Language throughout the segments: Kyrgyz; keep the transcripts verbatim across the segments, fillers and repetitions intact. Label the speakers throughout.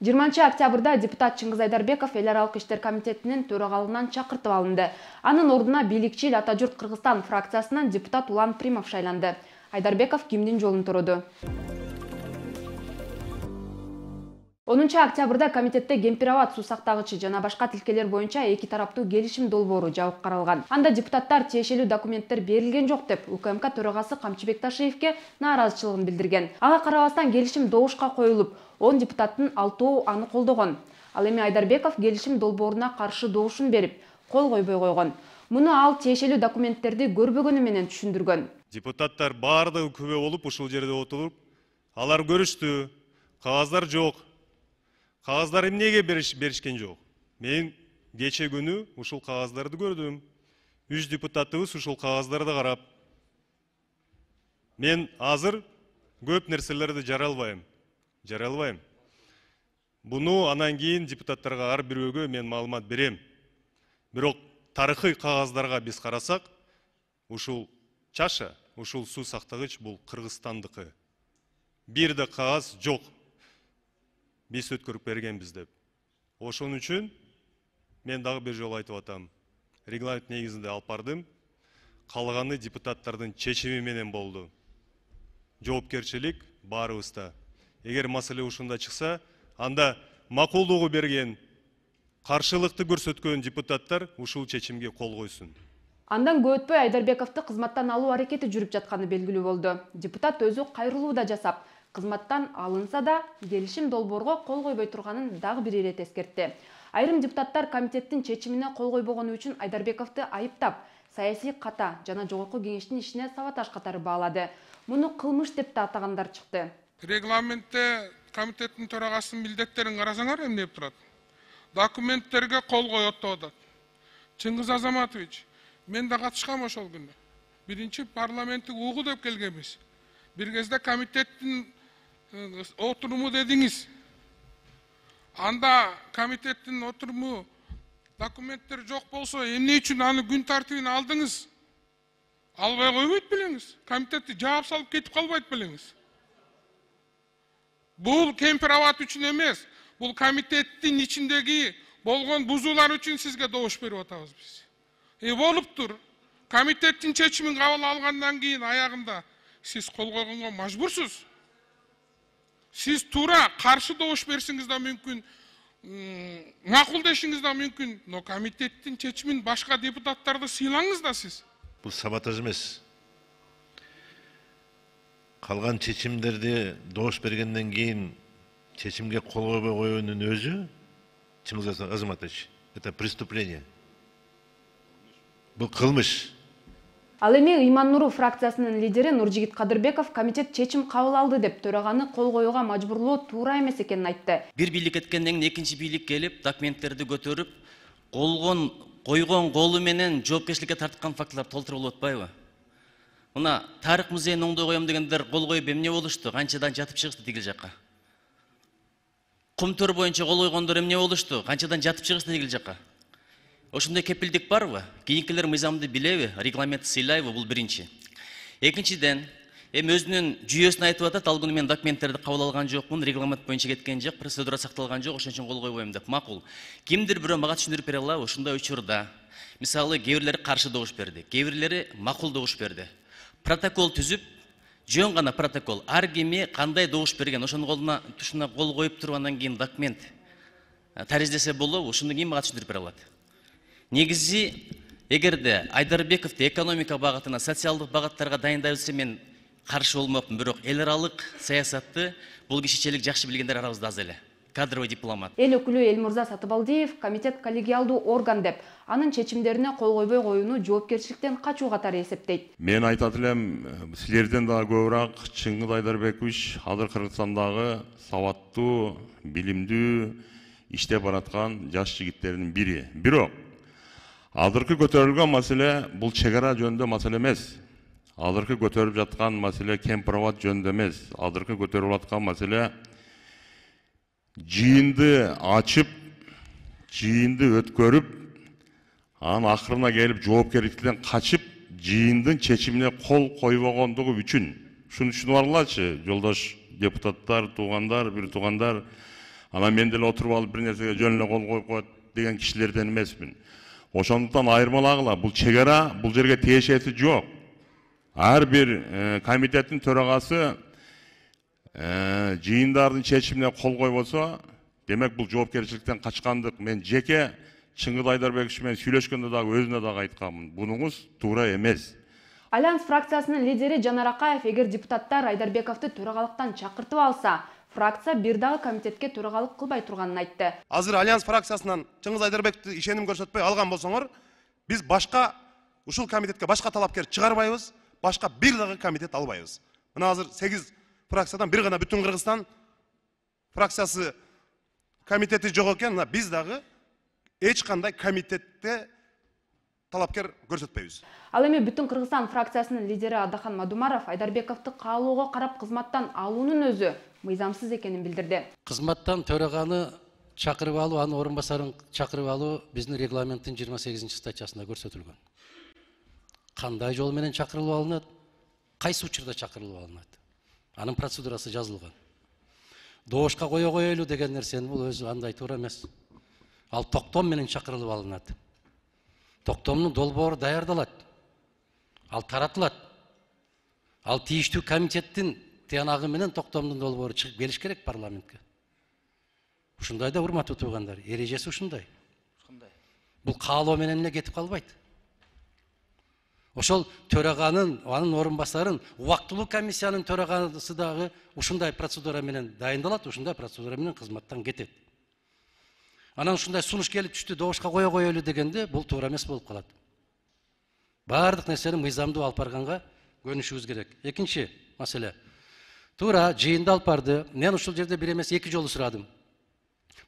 Speaker 1: жыйырманчы октябрда депутат Чыңгыз Айдарбеков эл аралык иштер комитетинин төрагалыгынан чакыртып алынды. Анын ордуна бийликчил Ата журт Кыргызстан фракциясынан депутат Улан Примов шайланды. Айдарбеков кимдин жолун туруду? онунчу октябрда комитетте Кемпир-Абад суу сактагычы жана башка тилкелер боюнча эки тараптуу келишим долбоору жабык каралган. Анда депутаттар тиешелүү документтер берилген жок деп УКМК төрагасы Камчыбек Ташиевке нааразычылыгын билдирген. Ага карабастан келишим добушка коюлуп, он депутаттын алтоо аны колдогон. Ал эми Айдарбеков келишим долбооруна каршы добушун берип, кол койбой койгон. Муну ал тиешелүү документтерди көрбөгөнү менен түшүндүргөн.
Speaker 2: Депутаттар баардыгы күбө болуп ушул жерде отуруп, алар көрүштү, кагаздар жок. Кагаздар эмнеге беришкен жок? Мен кече күнү ушул кагаздарды көрдүм. Үч депутатыбыз ушул кагаздарды карап. Мен азыр көп нерселерди жаралбайм. Жаралбайм. Буну анан кийин депутаттарга ар бирөөгө мен маалымат берем. Бирок тарыхый кагаздарга биз карасак, ушул чаша, ушул суу сактагыч бул Кыргызстандыкы. Бир да кагаз жок. Биз өткөрүп бергенбиз деп. Ошон үчүн мен дагы бир жолу айтып атам. Регламент негизинде алып бардым. Калганы депутаттардын чечими менен болду. Жоопкерчилик баарыбызда. Эгер маселе ушунда чыкса, анда макулдугу берген, каршылыкты көрсөткөн депутаттар ушул чечимге кол койсун.
Speaker 1: Андан көп өтпөй Айдарбековду кызматтан алуу аракети жүрүп жатканы белгилүү болду. Депутат өзү кайрылуу да жасап, кызматтан алынса да келишим долбоорго кол койбой турганын дагы бир ирет эскертти. Айрым депутаттар комитеттин чечимине кол койбогону үчүн Айдарбековду айыптап, саясий ката жана жогорку кеңештин ишине саботаж катары баалады. Муну кылмыш деп да атагандар чыкты.
Speaker 3: Регламентте комитеттин төрагасынын милдеттерин карасаңар эмне деп турат? Документтерге кол коет деп атат. Чыңгыз Азаматович, мен да катышкам ошол күнү. Биринчи парламенттик угу деп келгенбиз. Бир кезде комитеттин отуруму дедиңиз. Анда комитеттин отуруму документтер жок болсо, эмне үчүн аны күн тартибине алдыңыз? Албай койбойт белеңиз. Комитетти жаап салып кетип калбайт белеңиз. Бул Кемпир-Абад үчүн эмес, бул комитеттин ичиндеги болгон бузуулар үчүн сизге добуш берип атабыз биз. Э болуптур. Комитеттин чечимин кабыл алгандан кийин аягында сиз кол койгонго мажбурсуз. Сиз туура каршы добуш берсиңиз да мүмкүн, макулдешиңиз да мүмкүн, но комитеттин чечимин башка депутаттарды сыйлаңыз да сиз.
Speaker 4: Бул саботаж эмес. Калган чечимдерди добуш бергенден кийин чечимге кол койбой коюунун өзү, Чыңгыз Азаматович, это преступление. Бул кылмыш.
Speaker 1: Ал эми Ыйман-Нуру фракциясынын лидери Нуржигит Кадырбеков комитет чечим кабыл алды деп төраганы кол коюуга мажбурлоо туура эмес экенин айтты.
Speaker 5: Бир бийлик эткенден кийин экинчи бийлик келип, документтерди көтөрүп, колгон койгон колу менен жоопкерчиликке тарткан фактылар толтуруп болуп атпайбы? Мына тарых музейин оңдой коем дегендер кол коюп эмне болушту? Канчадан жатып чыгышты тигил жакка? Кум төр боюнча кол койгондор эмне болушту? Канчадан жатып чыгышты тигил жакка? Ошондой кепилдик барбы? Кийинкилер мыйзамды билеби, регламентти сыйлайбы? Бул биринчи. Экинчиден, эми өзүнүн жүйөсүн айтып атат, ал күнү мен документтерди кабыл алган жокмун, регламент боюнча кеткен жок, процедура сакталган жок, ошон үчүн кол койбойм деп. Макул. Кимдир бирөө мага түшүндүрүп бере алабы? Ушундай учурда, мисалы, кээ бирлери каршы добуш берди, кээ бирлери макул добуш берди. Протокол түзүп, жөн гана протокол, ар кими кандай добуш берген, ошонун колуна тушуна кол коюп тургандан кийин документ тариздесе болобу? Ушуну ким мага түшүндүрүп бере алат? Негизи, эгерде Айдарбековду экономика багытына, социалдык багыттарга дайындайбызса, мен каршы болмокмун, бирок эл аралык саясатты бул кишичелик жакшы билгендер арабызда аз эле. Кадровый дипломат.
Speaker 1: Эл өкүлү Элмурза Сатыбалдиев комитет коллегиалдуу орган деп, анын чечимдерине кол койбой коюуну жоопкерчиликтен качуу катары эсептейт.
Speaker 6: Мен айтат элем, силерден дагы көбүрөөк Чыңгыз Айдарбекович азыр Кыргызстандагы сабаттуу, билимдүү иштеп бараткан жаш жигиттердин бири. Бирок азыркы көтөрүлгөн маселе бул чек ара жөнүндө маселе эмес. Азыркы көтөрүлүп жаткан маселе Кемпир-Абад жөнүндө эмес. Азыркы көтөрүлүп аткан маселе жыйынды ачып, жыйынды өткөрүп, анын акырына келип жоопкерчиликтен качып, жыйындын чечимине кол койбогондугу үчүн. Шуну түшүнүп алгылачы, жолдош депутаттар, туугандар, бир туугандар. Анан мен деле отуруп алып бир нерсеге жөн эле кол коюп коет деген кишилерден эмесмин. Ошондуктан айырмалагыла, бул чек ара бул жерге тиешеси жок. Ар бир комитеттин төрагасы жыйындардын чечимине кол койбосо, демек бул жоопкерчиликтен качкандык. Мен жеке Чыңгыз Айдарбекович менен сүйлөшкөндө дагы өзүнө дагы айтканмын. Бунуңуз туура эмес.
Speaker 1: Альянс фракциясынын лидери Жанар Акаев эгер депутаттар Айдарбековду төрагалыктан чакыртып алса, фракция бир дагы комитетке төрагалык кылбай турганын айтты.
Speaker 7: Азыр Альянс фракциясынан Чыңгыз Айдарбековду ишеним көрсөтпөй алган болсоңор, биз башка ушул комитетке башка талапкер чыгарбайбыз, башка бир дагы комитет албайбыз. Мына азыр сегиз фракциядан бир гана бүтүн Кыргызстан фракциясы комитети жок экен, биз дагы эч кандай комитетте талапкер көрсөтпөйбүз.
Speaker 1: Ал эми бүтүн Кыргызстан фракциясынын лидери Адахан Мадумаров Айдарбековду каалоого карап кызматтан алуунун өзү мыйзамсыз экенин билдирди.
Speaker 8: Кызматтан төраганы чакырып алуу, анын орун басарын чакырып алуу биздин регламенттин жыйырма сегизинчи статьясында көрсөтүлгөн. Кандай жол менен чакырылып алынат, кайсы учурда чакырылып алынат. Анын процедурасы жазылган. Доошка кое коелу деген нерсени бул өзү андай туура эмес. Ал токтом менен чакырылып алынат. Токтомдун долбоору даярдалат. Ал таратылат. Ал тийиштүү комитеттин тыянагы менен токтомдун долбоору чыгып келиш керек парламентке. Ушундай да урматтуу туугандар, эрежеси ушундай. Бул каалоо менен эле кетип калбайт. Ошол төраганын, анын орун басарын, убактылуу комиссиянын төрагасы дагы ушундай процедура менен дайындалат, ушундай процедура менен кызматтан кетет. Анан ушундай сунуш келип түштү, доошка кое коелу дегенде бул туура эмес болуп калат. Баардык нерсени мыйзамдуу алып барганга көнүшүбүз керек. Экинчи маселе. Туура жыйында алып барды. Мен ушул жерде бир эмес эки жолу сурадым.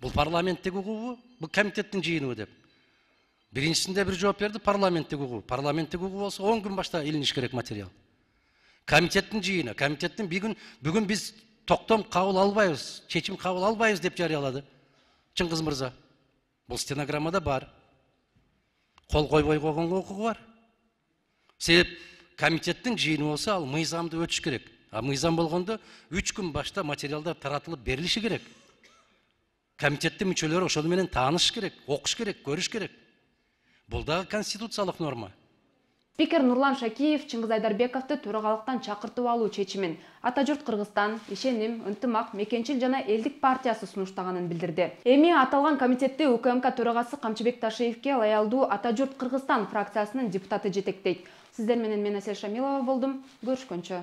Speaker 8: Бул парламенттеги угубу, бул комитеттин жыйыныбы деп. Биринчисинде бир жооп берди, парламенттеги угу. Парламенттеги угу болсо он күн башта илиниш керек материал. Комитеттин жыйыны, комитеттин бүгүн бүгүн биз токтом кабыл албайбыз, чечим кабыл албайбыз деп жарыялады Чыңгыз мырза. Бул стенограммада бар. Кол койбой койгонго укугу бар. Себеп комитеттин жыйыны болсо ал мыйзамды өтүш керек. А мыйзам болгондо үч күн башта материалдар таратылып берилиши керек. Комитеттин мүчөлөрү ошол менен тааныш керек, окуш керек, көрүш керек. Бул дагы конституциялык норма.
Speaker 1: Спикер Нурлан Шакиев Чыңгыз Айдарбековду төрагалыктан чакыртып алуу чечимин Ата журт Кыргызстан, Ишеним, Ынтымак, Мекенчил жана Элдик партиясы сунуштаганын билдирди. Эми аталган комитетти УКМК төрагасы Камчыбек Ташиевке ылайыктуу Ата журт Кыргызстан фракциясынын депутаты жетектейт. Сиздер менен мен Асель Шамилова болдум. Көрүшкөнчө.